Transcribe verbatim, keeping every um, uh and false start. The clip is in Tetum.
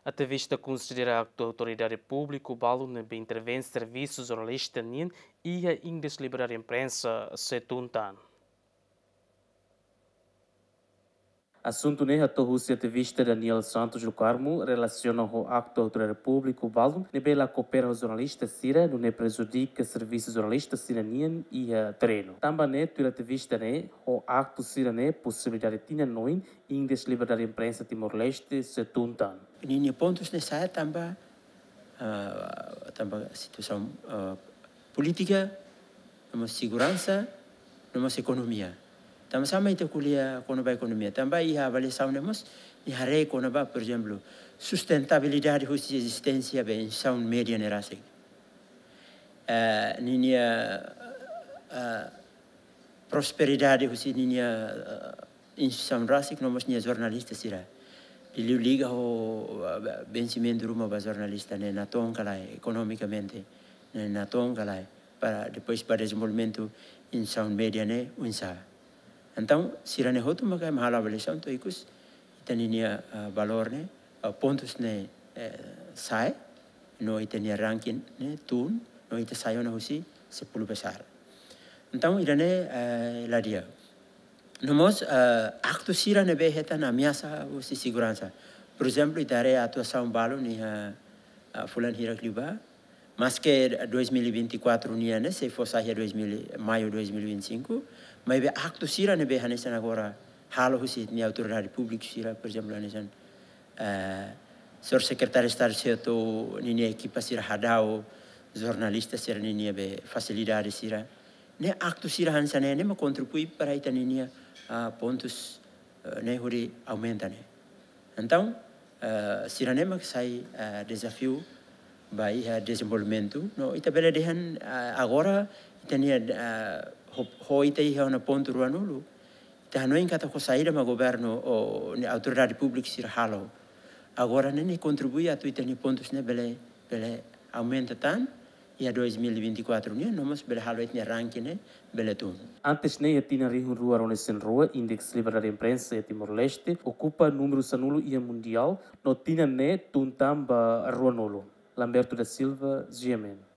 Ativista konsidera aktu autoridade públiku balu ne'ebé intervén servisu jornalista nian iha Index Liberdade Imprensa sei tun tan. Asuntu ne'e hato'o husi ativista Daniel Santos do Carmo relasiona ho aktu autoridade públiku balu ne'ebé la koopera ho jornalista sira, nune'e prejudika servisu jornalista sira nian iha terrenu. Tanba ne'e, tuir ativista ne'e, ho aktu sira-ne'e posibilidade tinan oin Index Liberdade Imprensa Timor-Leste sei tun tan. Ninia pontus ne'e sa'e tanba, ah, tanba situasaun, ah, polítika, no mós seguransa, no mós ekonomia. Tanba sá mak ita ko'alia kona-ba ekonomia? Tanba iha avaliasaun ne'e mós nia haree kona-ba, por ezemplu, sustentabilidade husi ezisténsia ba instituisaun média ne'e rasik. Eh, ninia, eh, prosperidade husi ninia, eh, instituisaun rasik no mós nia jornalista sira. Liuliu liga ho, eh, vensimentu ruma ba jornalista ne'e natoon ka lae, ekonomikamente ne'e natoon ka lae, para depois ba dezenvolvimentu instituisaun média ne'e oinsá. Entaun, sira-ne'e hotu maka ema halo avaliasaun to'o ikus ita ninia, ah, valór ne'e, ah, pontus ne'e, eh, sa'e, no ita-nia ranking ne'e tun, no ita sai ona husi sepuluh besar. Entaun, ida-ne'e, eh, la di'ak. No mós, eh, aktu sira ne'ebé hetan ameasa husi seguransa. Por ezemplu, ita haree atuasaun balu iha, ah, fulan hirak liubá, maske dois mil e vinte e quatro nian ne'e sei fó sai iha dois mil, maiu dois mil e vinte e cinco, maibé aktu sira ne'ebé hanesan agora halo husi ita-nia autoridade públiku sira, por ezemplu, hanesan, eh, señór Sekretáriu Estadu Seto ninia ekipa sira hadau jornalista sira ninia be fasilidade sira. Ne'e aktu sira hanesan ne'e, ne'e mak kontribui para ita ninia, ah, pontus, eh, ne'e hodi aumenta ne'e. Entaun, eh, sira-ne'e mak sai, eh, dezafiu ba iha dezenvolvimentu. No ita bele dehan, eh, agora ita-nia, eh, ho, ho ita iha ona pontu ruanulu, ita hanoin katak ho saida mak governu ou ne'e autoridade públiku sira halo. Agora ne'e, ne'e kontribui atu ita-nia pontus ne'e bele, bele aumenta tan, iha dois mil e vinte e quatro nian, no mós bele halo ita-nia ranking ne'e bele tun. Antes ne'e, iha tinan rihun rua ruanulu-resin-rua, Index Liberdade Imprensa iha Timor-Leste okupa númeru sanulu iha mundiál, no tinan ne'e tun tan ba ruanulu. Lamberto da Silva, G M N.